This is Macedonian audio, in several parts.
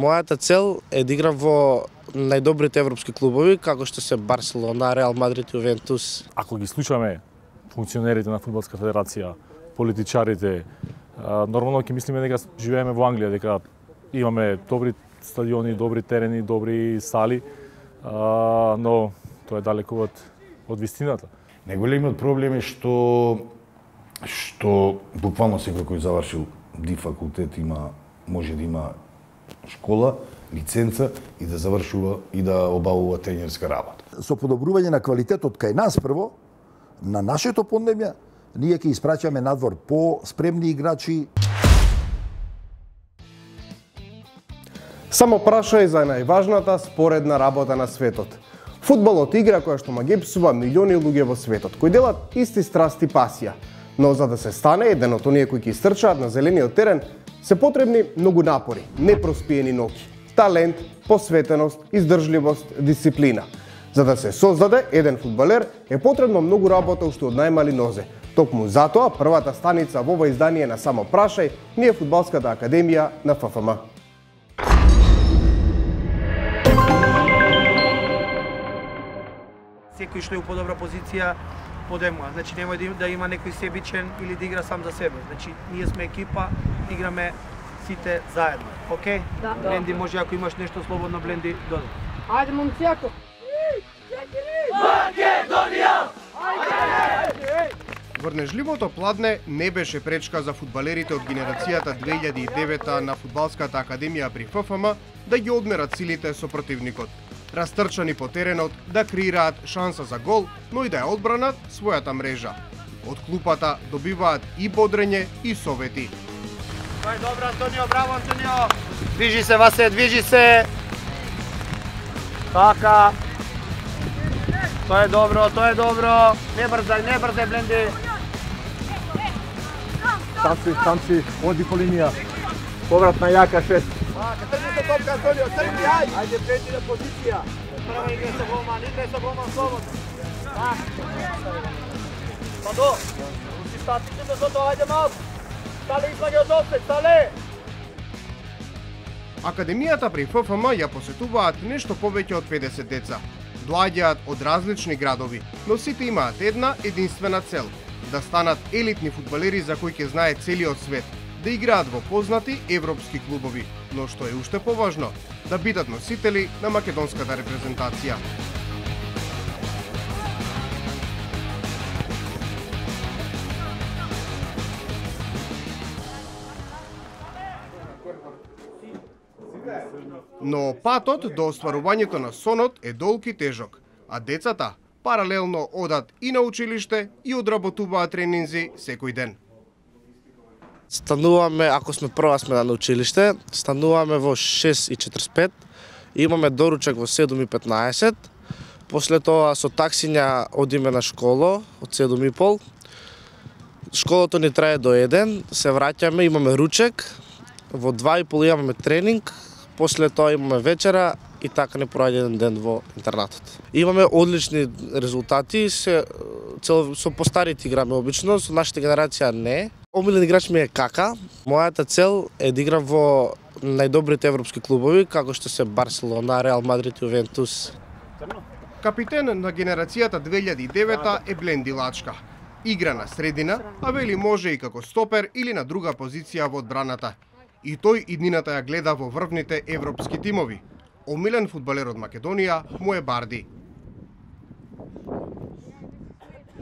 Мојата цел е да играм во најдобрите европски клубови, како што се Барселона, Реал Мадрид и Ювентус. Ако ги слушаме функционерите на Фудбалска федерација, политичарите, нормално ќе мислиме дека живееме во Англија, дека имаме добри стадиони, добри терени, добри сали, но тоа е далеку од вистината. Најголемиот проблем е што буквално секој кој завршил ди факултет може да има школа, лиценца и да завршува и да обавува тренерска работа. Со подобрување на квалитетот кај нас прво, на нашето поднебје, ние ќе испраќаме надвор по-спремни играчи. Само прашај за најважната споредна работа на светот. Фудбалот игра која што ма ги псува милиони луѓе во светот, кои делат исти страсти пасија. Но за да се стане еден од оние кои ќе истрчаат на зелениот терен, се потребни многу напори, непроспиени ноќи, талент, посветеност, издржливост, дисциплина. За да се создаде еден фудбалер е потребно многу работа уште од најмали нозе. Токму затоа првата станица во ова издание на Само прашај ни е Фудбалската академија на ФФМ. Секој што е у подобра позиција подемува. Значи немој да има некој себичен или да игра сам за себе. Значи ние сме екипа, играме сите заедно. Океј? Да. Бленди, може ако имаш нешто слободно, Бленди, доди. Ајде, момци, Македонија! Врнежливото пладне не беше пречка за фудбалерите од генерацијата 2009 на Фудбалската академија при ФФМ да ги одмерат силите со противникот. Растрчани по теренот да креираат шанса за гол, но и да ја одбранат својата мрежа. Од клупата добиваат и бодрење и совети. Тоа е добро, Антонио, браво, Антонио! Движи се, Васе, движи се! Така! Тоа е добро, тоа е добро! Не брзај, Бленди! Танци, оди по линија. Повратна јака 6. Тргни топка, Антонио, тргни, ајде! Ајде, Бленди на позиција! Прва играј со голман, слободно! Падо! Руши статите до зото, ајде малку! Стале, излаги од офсет, стале! Академијата при ФФМ ја посетуваат нешто повеќе од 50 деца. Доаѓаат од различни градови, но сите имаат една единствена цел – да станат елитни фудбалери за кои ќе знае целиот свет, да играат во познати европски клубови, но што е уште поважно, да бидат носители на македонската репрезентација. Но патот до остварувањето на сонот е долг и тежок, а децата паралелно одат и на училиште и одработуваат тренинзи секој ден. Стануваме, ако сме прва смена на училиште, стануваме во 6:45, имаме доручак во 7:15, после тоа со таксиња одиме на школа од 7:30. Школото ни трае до 1, се враќаме, имаме ручек, во 2:30 имаме тренинг, после тоа имаме вечера и така не проаѓа еден ден во интернатот. Имаме одлични резултати, со постарите играме обично, со нашата генерација не. Омилен играч ми е Кака. Мојата цел е да играм во најдобрите европски клубови, како што се Барселона, Реал Мадрид и Ювентус. Капитен на генерацијата 2009 е Бленди Лачка. Игра на средина, а вели може и како стопер или на друга позиција во одбраната. И тој иднината ја гледа во врвните европски тимови. Омилен фудбалер од Македонија му е Барди.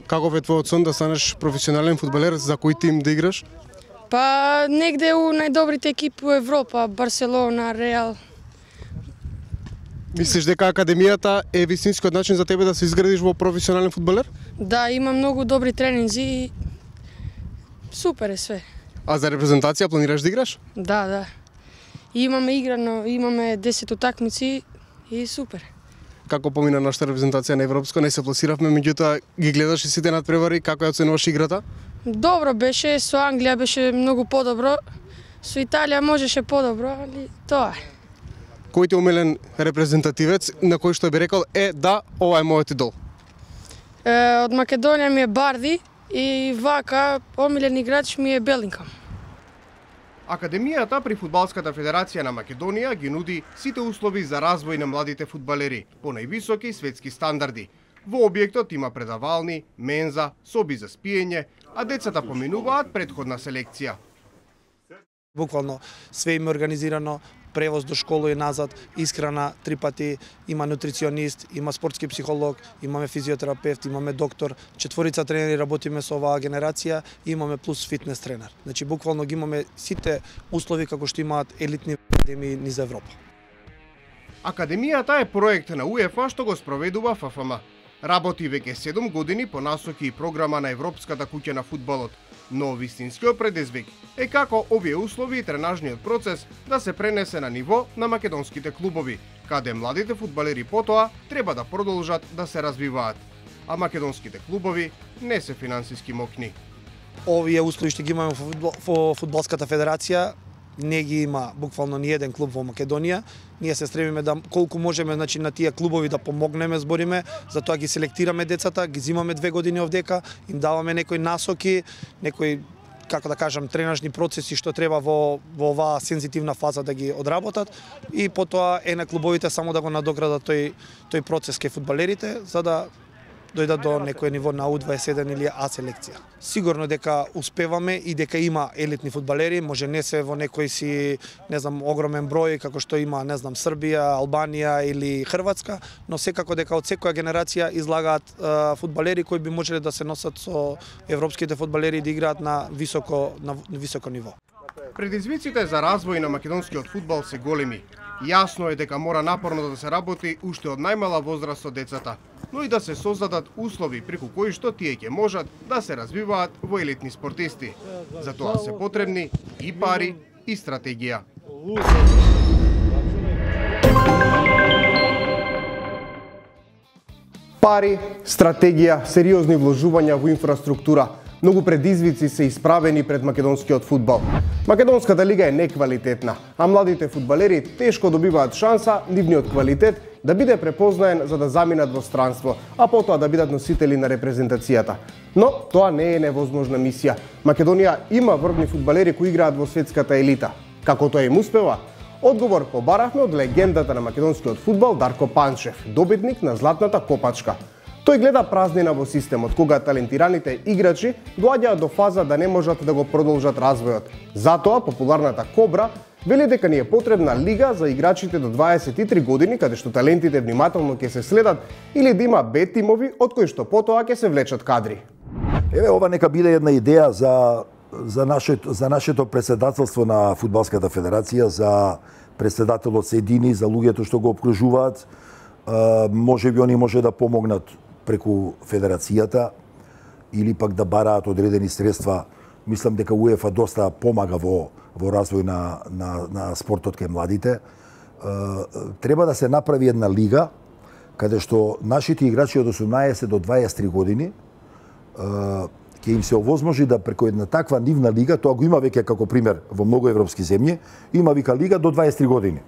Каков е твојот сон да станеш професионален фудбалер, за кој тим да играш? Па негде у најдобрите екипи во Европа, Барселона, Реал. Мислиш дека академијата е вистинскиот начин за тебе да се изградиш во професионален фудбалер? Да, има многу добри тренинзи и супер е све. А за репрезентација планираш да играш? Да. Имаме играно, имаме 10 утакмици и супер. Како помина нашата репрезентација на европско, не се пласиравме, меѓутоа ги гледаш и сите надпревари, како ја оценуваш играта? Добро беше, со Англија беше многу подобро, со Италија можеше подобро, али тоа е. Кој ти е омилен репрезентативец на кој што би рекол да, ова е мојот идол? Од Македонија ми е Барди и вака омилен играч ми е Белингхам. Академијата при Фудбалската федерација на Македонија ги нуди сите услови за развој на младите фудбалери по највисоки светски стандарди. Во објектот има предавални, менза, соби за спиење, а децата поминуваат претходна селекција. Буквално све им е организирано, превоз до школа и назад, исхрана 3 пати, има нутриционист, има спортски психолог, имаме физиотерапевт, имаме доктор, 4 тренери работиме со оваа генерација и имаме плюс фитнес тренер. Значи буквално ги имаме сите услови како што имаат елитни академии низ Европа. Академијата е проект на УЕФА што го спроведува ФФМ. Работи веќе 7 години по насоки и програма на Европската куќа на фудбалот, но вистинскиот предизвик е како овие услови и тренажниот процес да се пренесе на ниво на македонските клубови, каде младите фудбалери потоа треба да продолжат да се развиваат, а македонските клубови не се финансиски мокни. Овие услови што ги имаме во Фудбалската федерација не ги има буквално ни еден клуб во Македонија. Ние се стремиме да колку можеме, значи, на тие клубови да помогнеме, збориме, затоа ги селектираме децата, ги зимаме 2 години овдека, им даваме некои насоки, некои, како да кажам, тренажни процеси што треба во оваа сензитивна фаза да ги одработат и потоа е на клубовите само да го надоградат тој процес кај фудбалерите за да дојдат до некој ниво на U21 или А селекција. Сигурно дека успеваме и дека има елитни фудбалери, може не се во некој си, не знам, огромен број како што има, не знам, Србија, Албанија или Хрватска, но секако дека од секоја генерација излагаат фудбалери кои би можеле да се носат со европските фудбалери и да играат на високо ниво. Предизвиците за развој на македонскиот фудбал се големи. Јасно е дека мора напорно да се работи уште од најмала возраст со децата, но и да се создадат услови преку кои што тие ќе можат да се развиваат во елитни спортисти. За тоа се потребни и пари и стратегија. Пари, стратегија, сериозни вложувања во инфраструктура. Многу предизвици се исправени пред македонскиот фудбал. Македонската лига е неквалитетна, а младите фудбалери тешко добиваат шанса нивниот квалитет да биде препознаен за да заминат во странство, а потоа да бидат носители на репрезентацијата. Но тоа не е невозможна мисија. Македонија има врвни фудбалери кои играат во светската елита. Како тоа им успева? Одговор побарахме од легендата на македонскиот фудбал Дарко Панчев, добитник на Златната копачка. Тој гледа празнина во системот, кога талентираните играчи доаѓаат до фаза да не можат да го продолжат развојот. Затоа популарната Кобра вели дека ни е потребна лига за играчите до 23 години, каде што талентите внимателно ќе се следат, или да има Б тимови од кои што потоа ќе се влечат кадри. Еве, ова нека биде една идеја за нашето председателство на Фудбалската федерација, за председателот Седини, за луѓето што го обкружуваат. Може би они може да помогнат преку федерацијата или пак да бараат одредени средства. Мислам дека УЕФА доста помага во развој на спортот кај младите. Треба да се направи една лига каде што нашите играчи од 18 до 23 години ќе им се овозможи да преку една таква нивна лига, тоа го има веќе како пример во многу европски земји, има вика лига до 23 години.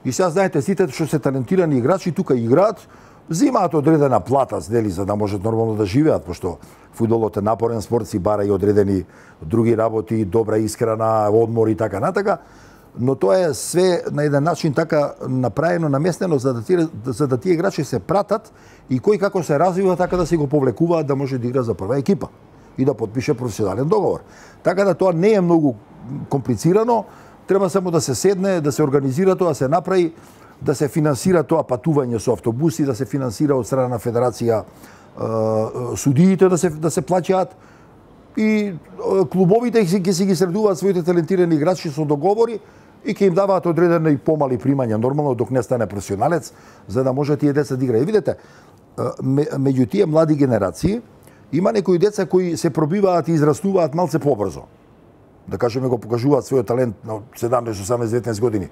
И сега знаете, сите што се талентирани играчи тука играат, взимаат одредена плата, дели, за да можат нормално да живеат, пошто фудбалот е напорен спорт, си бара и одредени други работи, добра исхрана, одмор и така натака, но тоа е све на еден начин така направено, наместено за да тие играчи се пратат и кој како се развива, така да се го повлекуваат да може да игра за прва екипа и да подпише професионален договор. Така да тоа не е многу комплицирано, треба само да се седне, да се организира тоа, да се направи, да се финансира тоа патување со автобуси, да се финансира од страна на федерација судиите да се плаќаат и клубовите ќе си ги средуваат своите талентирани играчи со договори и ќе им даваат одредени помали примања, нормално док не стане професионалец, за да може тие деца да играат. И видите, меѓу тие млади генерации има некои деца кои се пробиваат и израстуваат малце побрзо. Да кажеме, го покажуваат својот талент на 17, 18, 19 години.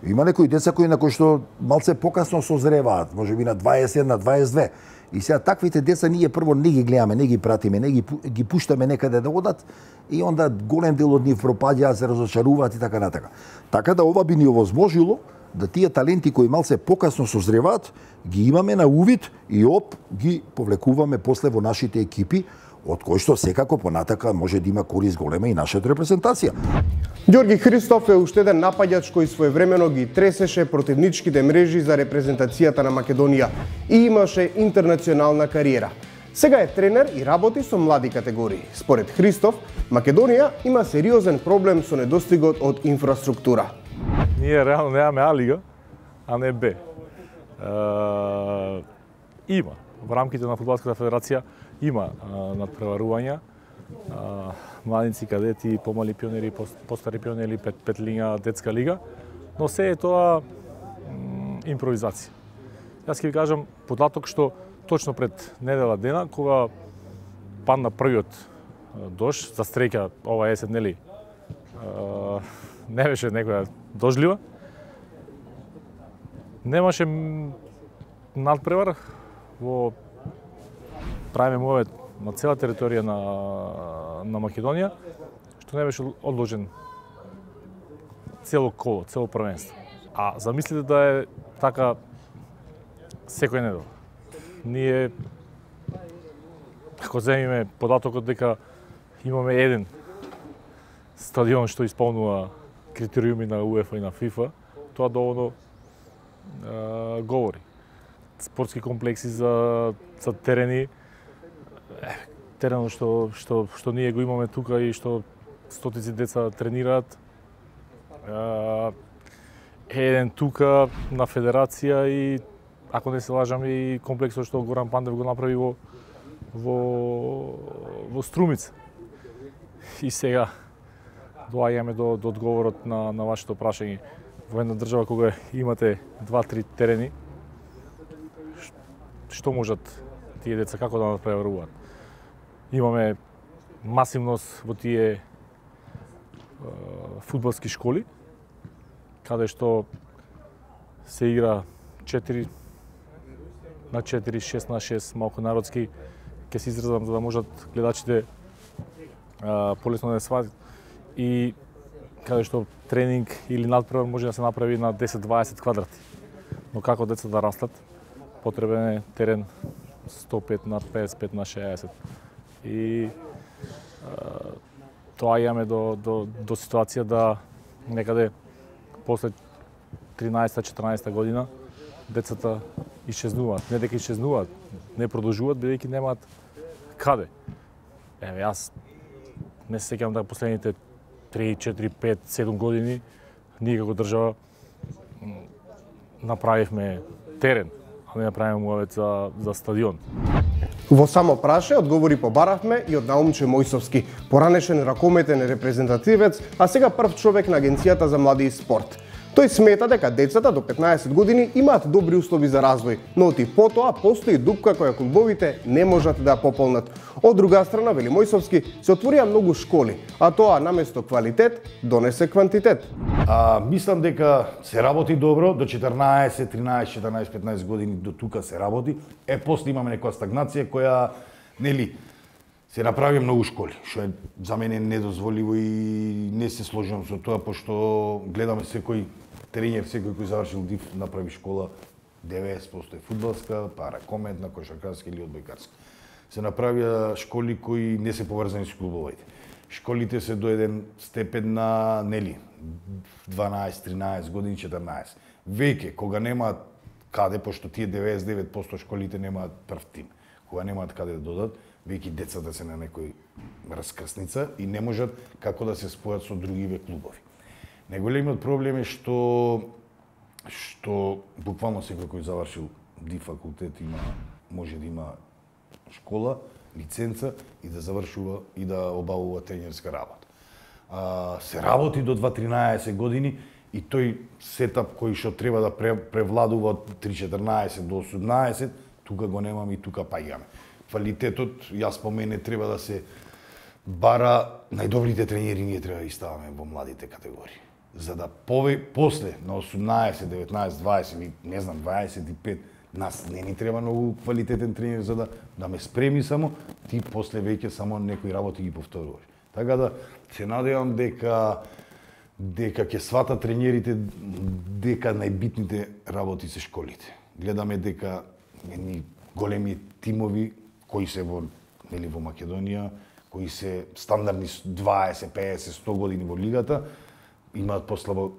Има некои деца кои на кои што малце покасно созреваат, можеби на 21, на 22. И сега таквите деца ние прво не ги гледаме, не ги пратиме, не ги пуштаме некаде да одат и онда голем дел од нив пропаѓаат, се разочаруваат и така натака. Така да ова би ни овозможило да тие таленти кои малце покасно созреваат, ги имаме на увид и ги повлекуваме после во нашите екипи, од кој што секако понатака може да има корист голема и нашата репрезентација. Ѓорги Христоф е уште еден напаѓач кој своевремено ги тресеше противничките мрежи за репрезентацијата на Македонија и имаше интернационална кариера. Сега е тренер и работи со млади категории. Според Христоф, Македонија има сериозен проблем со недостигот од инфраструктура. Ние реално немаме А лига, а не Б. Има во рамките на Фудбалската федерација има надпреварувања, младинци, кадети, помали пионери, постари пионери, петлиња, детска лига, но се е тоа импровизација. Јас ќе ви кажам податок што точно пред недела дена, кога падна првиот дожд, за среќа ова есен, нели, не беше некоја дожлива, немаше надпревар во правиме мовет на цела територија на Македонија, што не беше одложен цело коло, цело првенство. А замислите да е така секој недела. Ние, ако земиме податокот дека имаме еден стадион што исполнува критериуми на УЕФА и на ФИФА, тоа доволно говори. Спортски комплекси за терени, теренот што ние го имаме тука и што стотици деца тренираат, еден тука на федерација и, ако не се лажам, и комплексот што Горан Пандев го направи во Струмица. И сега доаѓаме до одговорот на вашето прашање. Во една држава кога имате 2-3 терени, што можат тие деца како да надпреваруваат? Имаме масивност во тие фудбалски школи, каде што се игра 4 на 4, 6 на 6, малку народски, ќе се изразам за да можат гледачите полесно да сватат, и каде што тренинг или надпревар може да се направи на 10-20 квадрати. Но како деца да растат, потребен е терен 105 на 55 на 60. И тоа имаме до ситуација да некаде после 13-14 година децата исчезнуваат. Не дека исчезнуваат, не продолжуваат бидејќи немаат каде. Еве, јас не се сеќавам да последните 3, 4, 5, 7 години ние како држава направивме терен, а не направиме муавет за стадион. Во само праше одговори побаравме и од Наумче Мојсовски, поранешен ракометен репрезентативец, а сега прв човек на Агенцијата за млади и спорт. Тој смета дека децата до 15 години имаат добри услови за развој, но и потоа постои дупка која клубовите не можат да ја пополнат. Од друга страна, вели Мојсовски, се отворија многу школи, а тоа наместо квалитет донесе квантитет. Мислам дека се работи добро, до 14, 13, 14, 15 години до тука се работи. После имаме некоја стагнација која, нели, се направи многу школи, што е за мене недозволиво и не се сложувам со тоа, пошто гледаме секој тренер, секој кој завршил ДИФ направи школа, 90% е фудбалска, па ракометна, кошаркарска или одбојкарска. Се направија школи кои не се поврзани со клубовите. Школите се до еден степен на, нели, 12, 13 години, 14. Веќе, кога немаат каде, пошто тие 99% школите немаат прв тим, кога немаат каде да додат, веќе децата се на некој раскрсница и не можат како да се спојат со другиве клубови. Најголемиот проблем е што буквално секој кој завршил ДИФ факултет може да има школа, лиценца и да завршува и да обавува тренерска работа. Се работи до 2-13 години и тој сетап кој што треба да превладува од 3-14 до 18, тука го немаме и тука паѓаме. Квалитетот, јас по мене, треба да се бара, најдобрите тренери ние треба да ставаме во младите категории. За да после на 18, 19, 20 или не знам 25, нас не ни треба многу квалитетен тренер за да ме спреми само, ти после веќе само некои работи ги повторуваш. Така да се надевам дека ќе сватат тренерите дека најбитните работи се школите. Гледаме дека едни големи тимови кои се во нели во Македонија, кои се стандардни 20, 50, 100 години во лигата, имаат послабо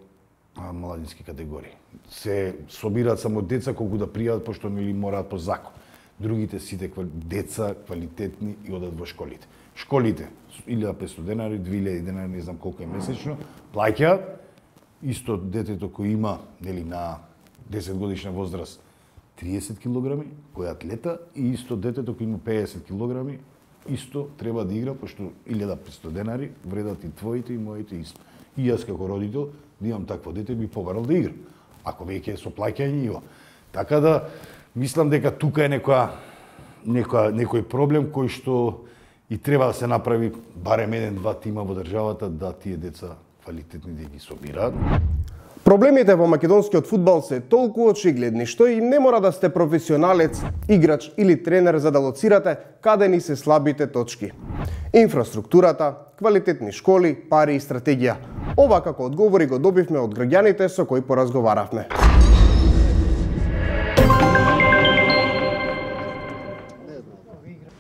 младински категории. Се собираат само деца колку да пријават, пошто нели мораат по закон. Другите сите деца квалитетни и одат во школите. Школите 1500 денари, 2000 денари, не знам колку е месечно, плаќаат. Исто детето кој има нели на 10 годишна возраст 30 килограми, кој е атлета, и исто детето кој има 50 килограми, исто треба да игра, пошто 1500 денари вредат и твоите и моите исто. И јас како родител, да имам такво дете, би побарал да игра. Ако веќе со плаќање иво. Така да, мислам дека тука е некој проблем кој што и треба да се направи барем 1-2 тима во државата да тие деца квалитетни да ги собираат. Проблемите во македонскиот фудбал се толку очигледни што и не мора да сте професионалец, играч или тренер за да лоцирате каде ни се слабите точки. Инфраструктурата, квалитетни школи, пари и стратегија. Ова како одговори го добивме од граѓаните со кои поразговаравме.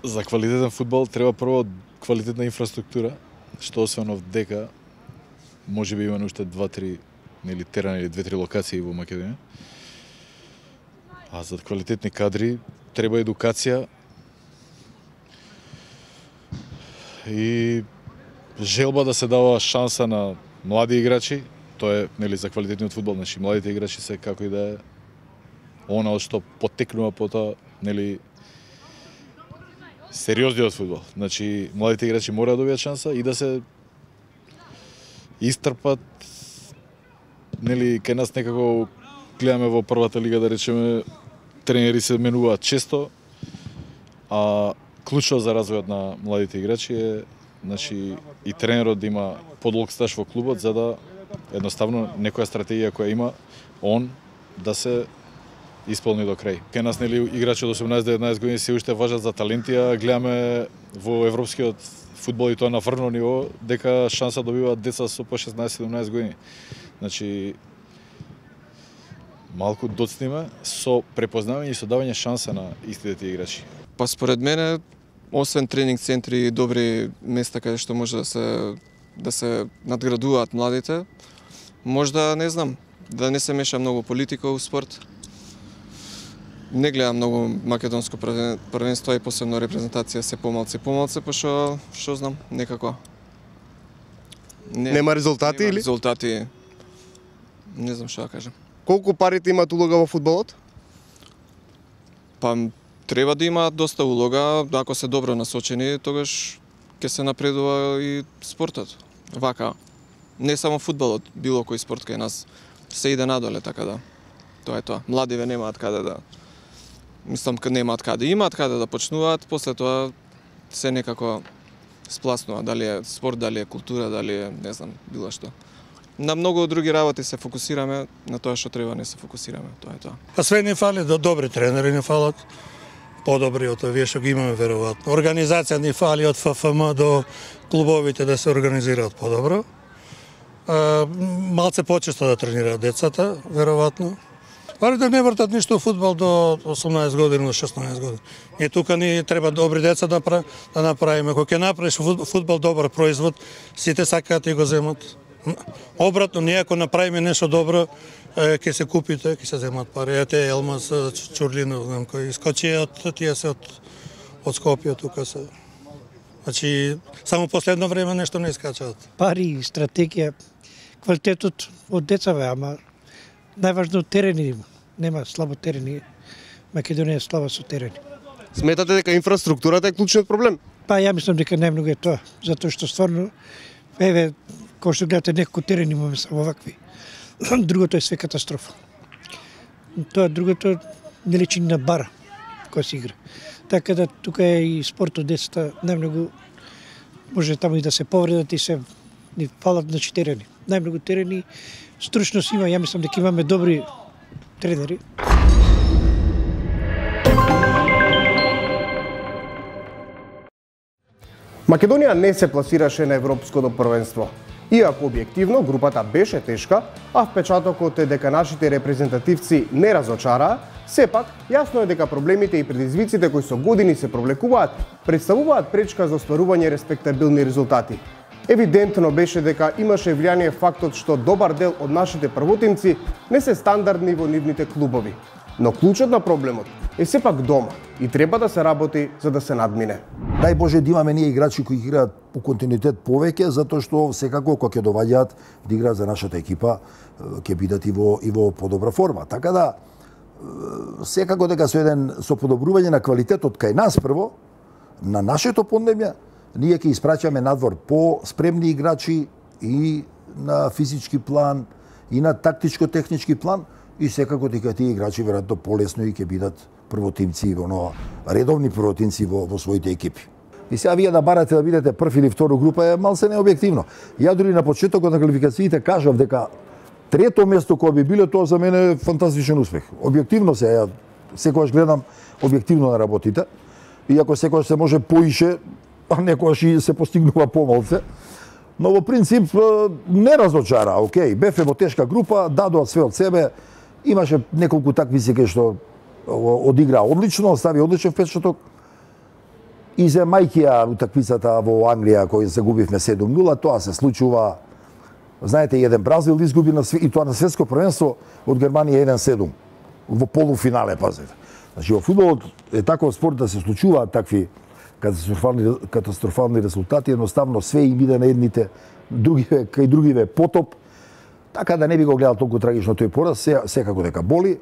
За квалитетен фудбал треба прво квалитетна инфраструктура, што освен дека може би има уште 2-3 нели терени или 2-3 локации во Македонија. А за квалитетни кадри треба едукација и желба да се дава шанса на млади играчи. Тоа е нели за квалитетниот фудбал, значи младите играчи се како и да е она што потекнува потоа нели сериозниот фудбал. Значи младите играчи мора да добијат шанса и да се истрпат. Нели кај нас некако гледаме во првата лига, да речеме, тренери се менуваат често, а клучно за развојот на младите играчи е значи и тренерот да има подолг стаж во клубот, за да едноставно некоја стратегија која има он да се исполни до крај. Кај нас нели играчи од 18-19 години се уште важат за таленти, а гледаме во европскиот фудбал и тоа на врно ниво дека шанса добиваат деца со по 16-17 години. Значи малку доцниме со препознавање и со давање шанса на истите тие играчи. Па според мене, освен тренинг центри и добри места каде што може да се надградуваат младите, можда, не знам, да не се меша многу политика у спорт. Не гледам многу македонско првенство и посебно репрезентација се помалци, пошто што знам, некако. Нема резултати или? Резултати, не знам што да кажам. Колку парите имаат улога во фудбалот? Па треба да имаат доста улога, ако се добро насочени, тогаш ќе се напредува и спортот. Вака, не само фудбалот, било кој спорт кај нас се иде надоле, така да. Тоа е тоа. Младиве немаат каде да немаат каде, имаат каде да почнуваат, после тоа се некако спласнува, дали е спорт, дали е култура, дали е, не знам, било што. На многу други работи се фокусираме, на тоа што треба не се фокусираме, тоа е тоа. Па све не фали, добри тренери не фалат, подобри од овие што ги имаме веројатно. Организација не фали од ФФМ до клубовите да се организираат подобро. Малце почесто да тренираат децата, веројатно. Бари да не вртат ништо фудбал до 18 години, до 16 години. И тука ни треба добри деца да направиме. Кога ќе направиш фудбал добар производ, сите сакаат и го земат. Обратно, ние ако направиме нешто добро, ќе се купите, ќе се земат пари. Ете Елмаз, Чурлинов, знам кој искочи од тие се од Скопје тука се. Значи само последно време нешто не искачаат. Пари, стратегија, квалитетот од децаве, ама најважно терени има. Нема слабо терени. Македонија е слаба со терени. Сметате дека инфраструктурата е клучниот проблем? Па ја мислам дека најмногу е тоа, затоа што стварно еве кој што гледате некој терен имаме само вакви. Другото е све катастрофа. Тоа другото не личи на бара кој се игра. Така да тука е и спортот децата најмногу може таму и да се повредат и се ни фалат на терени. Најмногу терени, стручност има, ја мислам дека имаме добри тренери. Македонија не се пласираше на европското првенство. Иако објективно групата беше тешка, а впечатокот е дека нашите репрезентативци не разочараа, сепак јасно е дека проблемите и предизвиците кои со години се провлекуваат, представуваат пречка за остварување респектабилни резултати. Евидентно беше дека имаше влијание фактот што добар дел од нашите првотимци не се стандардни во нивните клубови. Но клучот на проблемот е сепак дома и треба да се работи за да се надмине. Дај Боже да имаме ние играчи кои играат по континуитет повеќе, затоа што секако кога ќе доваѓаат да играат за нашата екипа, ќе бидат и во подобра форма. Така да секако дека со подобрување на квалитетот кај нас прво, на нашето поднебје, ние ќе испраќаме надвор по спремни играчи и на физички план, и на тактичко-технички план, и секако дека тие играчи веројатно полесно и ќе бидат првотимци, редовни првотимци во своите екипи. И сега вие да барате да бидете прв или второ група е малце необјективно. Ја дури на почетокот на квалификациите кажав дека трето место кое би било, тоа за мене е фантастичен успех. Објективно ја секогаш гледам објективно на работите, иако секогаш се може поише, а некогаш и се постигнува помалце. Но во принцип не разочара, окей, бевме во тешка група, дадоа све од себе, имаше неколку такмици кај што одигра одлично, остави одличен впечаток. И земајќи ја утакмицата во Англија која загубивме 7-0, тоа се случува. Знаете, еден Бразил изгуби и тоа на светско првенство од Германија 1-7 во полуфинале, пазете. Значи во фудбалот е таков спорт да се случуваат такви катастрофални резултати, едноставно све им иде на едните, кај другиве потоп. Така да не би го гледал толку трагично тој пораз, секако дека боли,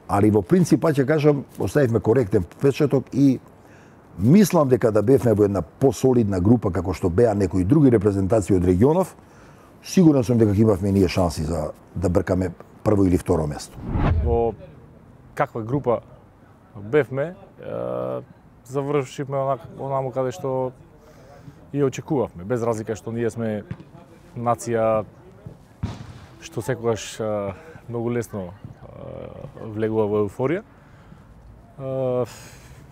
али во принцип, ќе кажам, оставивме коректен впечаток и мислам дека да бевме во една посолидна група како што беа некои други репрезентации од регионов, сигурен сум дека имавме ние шанси за да бркаме прво или второ место. Во каква група бевме, завршивме онаму каде што и очекувавме, без разлика што ние сме нација што секогаш многу лесно влегува во еуфорија.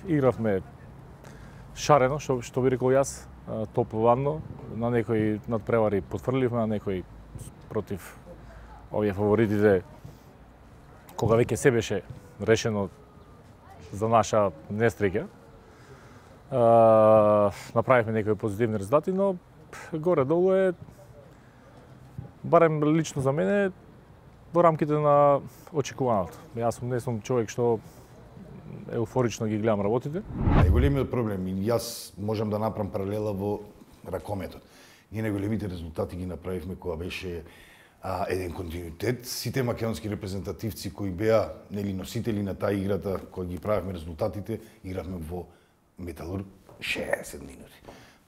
Игравме шарено, што би рекол јас, топловадно, на некои надпревари потфрливме, на некои против овие фаворитите, кога веќе се беше решено за наша нестреќа. Направивме некои позитивни резултати, но горе-долу е, барем лично за мене, во рамките на очекуваното. Јас не сум човек што еуфорично ги гледам работите. Најголемиот проблем, и јас можам да направам паралела во ракометот. Ние најголемите резултати ги направивме кога беше еден континуитет. Сите македонски репрезентативци кои беа носители на таа играта, кога ги правевме резултатите, игравме во Металург 60 минути.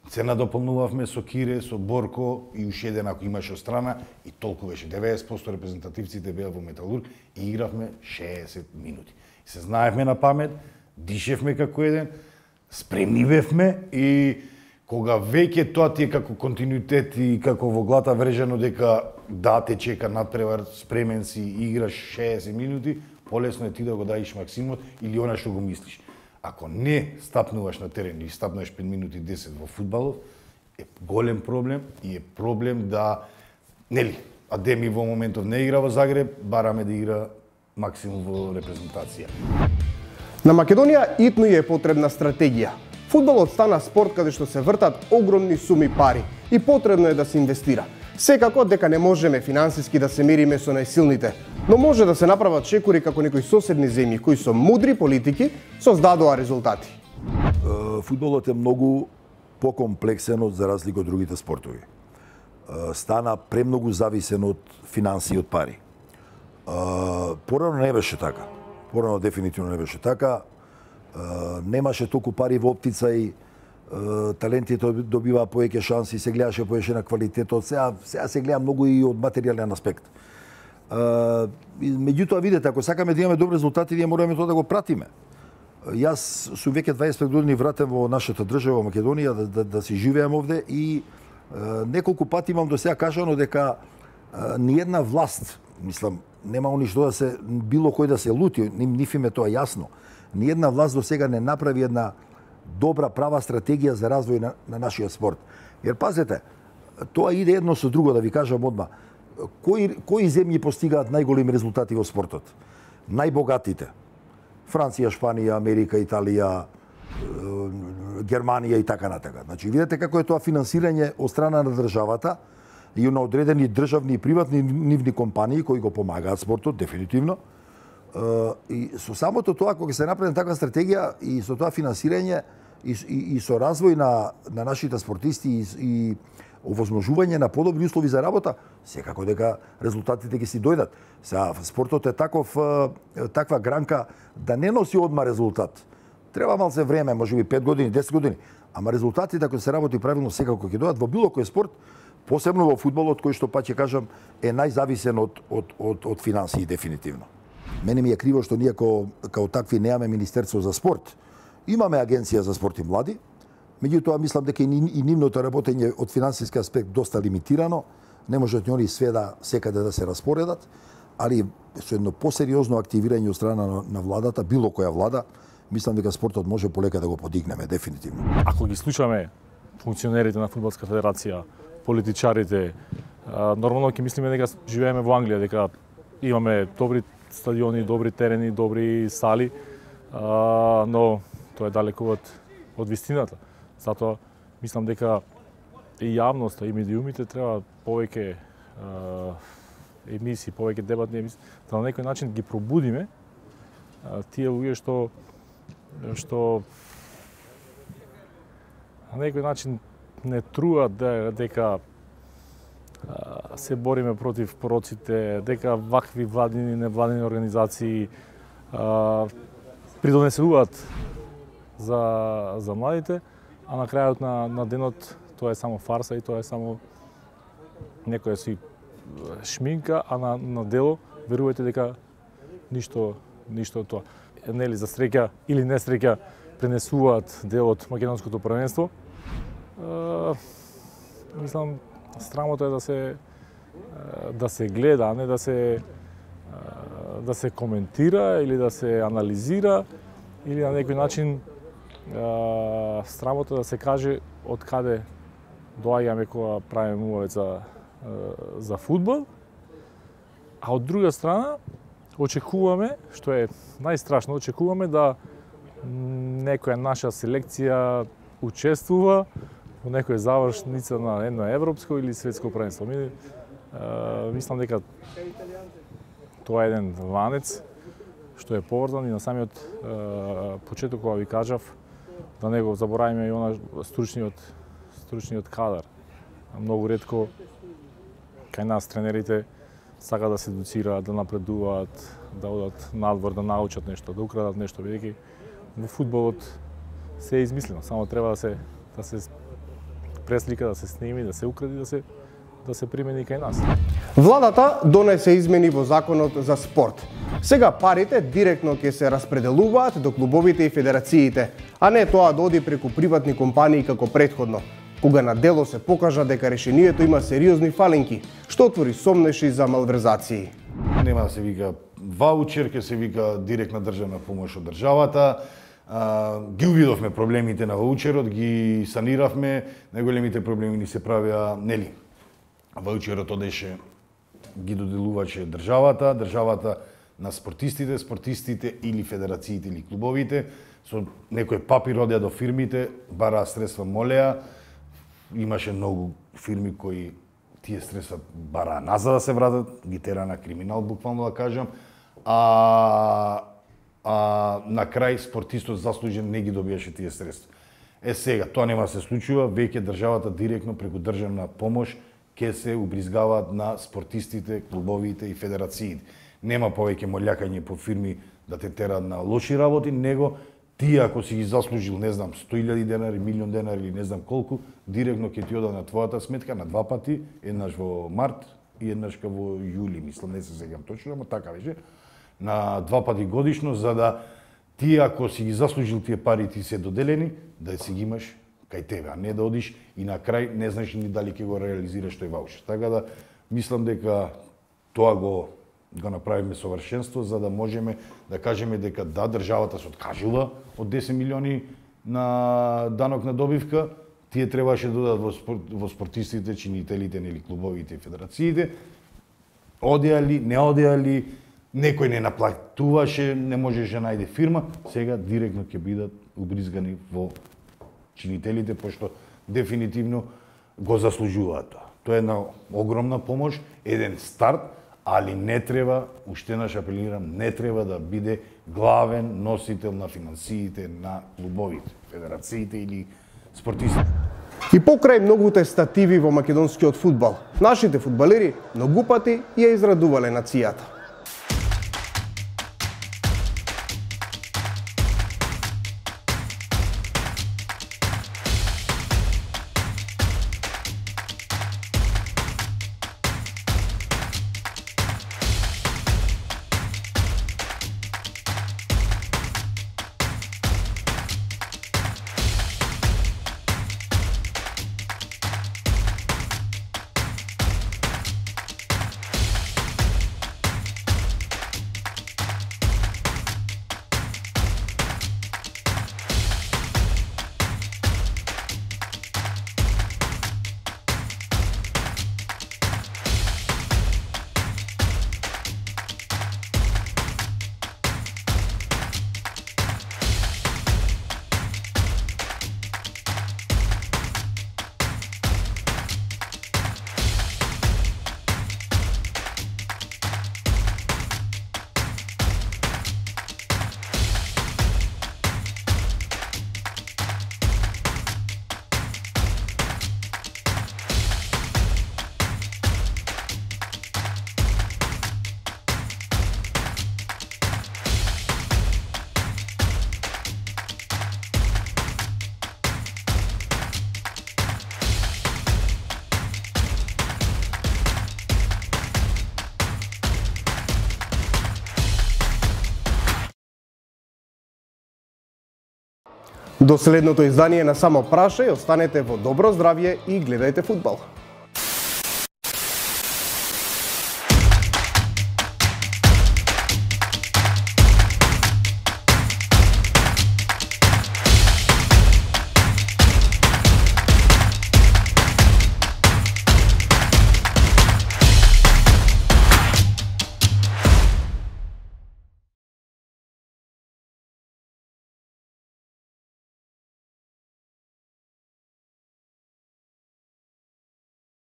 Се надополнувавме со Кире, со Борко и уште еден ако имаше од страна и толку беше. 90% репрезентативците беа во Металург и игравме 60 минути. Се знаевме на памет, дишевме како еден, спремни бевме и кога веќе тоа ти е како континуитет и како во глата врежено дека да те чека надпревар, спремен си и играш 60 минути, полесно е ти да го даиш максимумот или она што го мислиш. Ако не стапнуваш на терен и стапнуваш 5 минути 10 во фудбалот, е голем проблем и е проблем да, нели, Адеми во моментов не игра во Загреб, бараме да игра максимум во репрезентација. На Македонија итно е потребна стратегија. Фудбалот стана спорт каде што се вртат огромни суми пари и потребно е да се инвестира. Секако дека не можеме финансиски да се мериме со најсилните, но може да се направат чекори како некои соседни земји кои со мудри политики создадоа резултати. Фудбалот е многу покомплексен за разлика од другите спортови. Стана премногу зависен од финанси и од пари. Порано не беше така. Порано дефинитивно не беше така. Немаше толку пари во оптицај, талентите добиваа повеќе шанси, се гледаше повеќе на квалитетот, сега се гледа многу и од материјален аспект. Меѓутоа, видете, ако сакаме да имаме добри резултати, ние мораме тоа да го пратиме. Јас сум веќе 25 години вратен во нашата држава Македонија да си живеам овде и неколку пати имам до сега кажано дека ниедна власт, мислам, нема ништо да се било кој да се лути, ниф им е тоа јасно. Ниедна власт до сега не направи една добра права стратегија за развој на нашиот спорт. Jer пазете, Тоа иде едно со друго, да ви кажам одма. Кои земји постигаат најголеми резултати во спортот? Најбогатите. Франција, Шпанија, Америка, Италија, Германија и така натака. Значи, видите како е тоа финансирање од страна на државата и на одредени државни и приватни нивни компании кои го помагаат спортот, дефинитивно. И со самото тоа, кога се направи таква стратегија и со тоа финансирање и со развој на нашите спортисти и овозможување на подобри услови за работа, секако дека резултатите ќе си дојдат. Сега, спортот е таква гранка да не носи одма резултат. Треба малце време, можеби 5 години, 10 години, ама резултатите ако се работи правилно секако ќе дојдат во било кој спорт, посебно во фудбалот, кој што па ќе кажам е најзависен од финансии дефинитивно. Мене ми е криво што ние као такви немаме Министерство за спорт. Имаме Агенција за спорт и млади, меѓутоа мислам дека и нивното работење од финансиски аспект доста лимитирано, не можат они све секаде да се распоредат, али со едно посериозно активирање од страна на владата, било која влада, мислам дека спортот може полека да го подигнеме, дефинитивно. Ако ги слушаме функционерите на Фудбалска федерација, политичарите, нормално ќе мислиме дека живееме во Англија, дека имаме добри стадиони, добри терени, добри сали, но тоа е далеку од вистината. Затоа мислам дека и јавноста и медиумите треба повеќе емисии, повеќе дебатни емисии, да на некој начин ги пробудиме тие луѓе што на некој начин не труат дека се бориме против пороците, дека вакви владини и невладини организации придонесуваат за младите, а на крајот на денот тоа е само фарса и тоа е само некоја си шминка, а на дело верувајте дека ништо од тоа. Нели за среќа или несреќа пренесуваат дел од македонското првенство. Мислам, срамота е да се гледа, а не да се коментира или да се анализира или на некој начин срамота да се каже од каде доаѓаме кога правиме убавец за фудбал, а од друга страна очекуваме, што е најстрашно, очекуваме да некоја наша селекција учествува во некоја завршница на едно европско или светско првенство. Мислам дека тоа е еден ланец што е поврзан и на самиот почеток кога ви кажав да не го заборавиме и она стручниот кадар. Многу ретко кај нас тренерите сака да се едуцираат, да напредуваат, да одат надвор, да научат нешто, да украдат нешто, бидејќи во фудбалот се е измислено, само треба да се преслика, да се сними, да се укради, да се примени кај нас. Владата донесе измени во законот за спорт. Сега парите директно ќе се распределуваат до клубовите и федерациите, а не тоа да оди преку приватни компании како претходно, кога на дело се покажа дека решението има сериозни фалинки, што отвори сомнеши за малверзации. Нема да се вика ваучер, ќе се вика директна државна помош од државата. Ги увидовме проблемите на ваучерот, ги саниравме, најголемите проблеми ни се правиа, нели? Ваучерот одеше, ги доделуваше државата на спортистите или федерациите или клубовите, со некој папир одеа до фирмите, бараа средства, молеа, имаше многу фирми кои тие средства бараа назад да се вратат, ги тера на криминал, буквално да кажам, а на крај спортистот заслужен не ги добиеше тие средства. Сега, тоа нема да се случува, веќе државата директно преку државна помош ќе се убризгаваат на спортистите, клубовите и федерациите. Нема повеќе молјакање по фирми да те тераат на лоши работи, него ти ако си ги заслужил, не знам, 100.000 денари, милион денари или не знам колку, директно ќе ти ода на твојата сметка на два пати, еднаш во март и еднаш во јули, мислам, не се сеќавам точно, ама така беше, на два пати годишно, за да ти ако си ги заслужил тие пари ти се доделени, да си ги имаш кај тебе, а не да одиш и на крај не знаеш ни дали ќе го реализираш тој ваучер. Така да мислам дека тоа го направиме совршенство за да можеме да кажеме дека да, државата се откажува од 10 милиони на данок на добивка, тие требаше да додат во спортистите, чинителите, нели клубовите и федерациите. Одеа ли, не одеа ли, некој не наплатуваше, не можеше да најде фирма, сега директно ќе бидат убризгани во чинителите, пошто дефинитивно го заслужуваат тоа. Тоа е една огромна помош, еден старт, али не треба, уште наш апелирам, не треба да биде главен носител на финансиите на клубовите, федерациите или спортистите. И покрај многуте стативи во македонскиот фудбал, нашите фудбалери многу пати ја израдувале нацијата. До следното издание на Само прашај, останете во добро здравје и гледајте фудбал.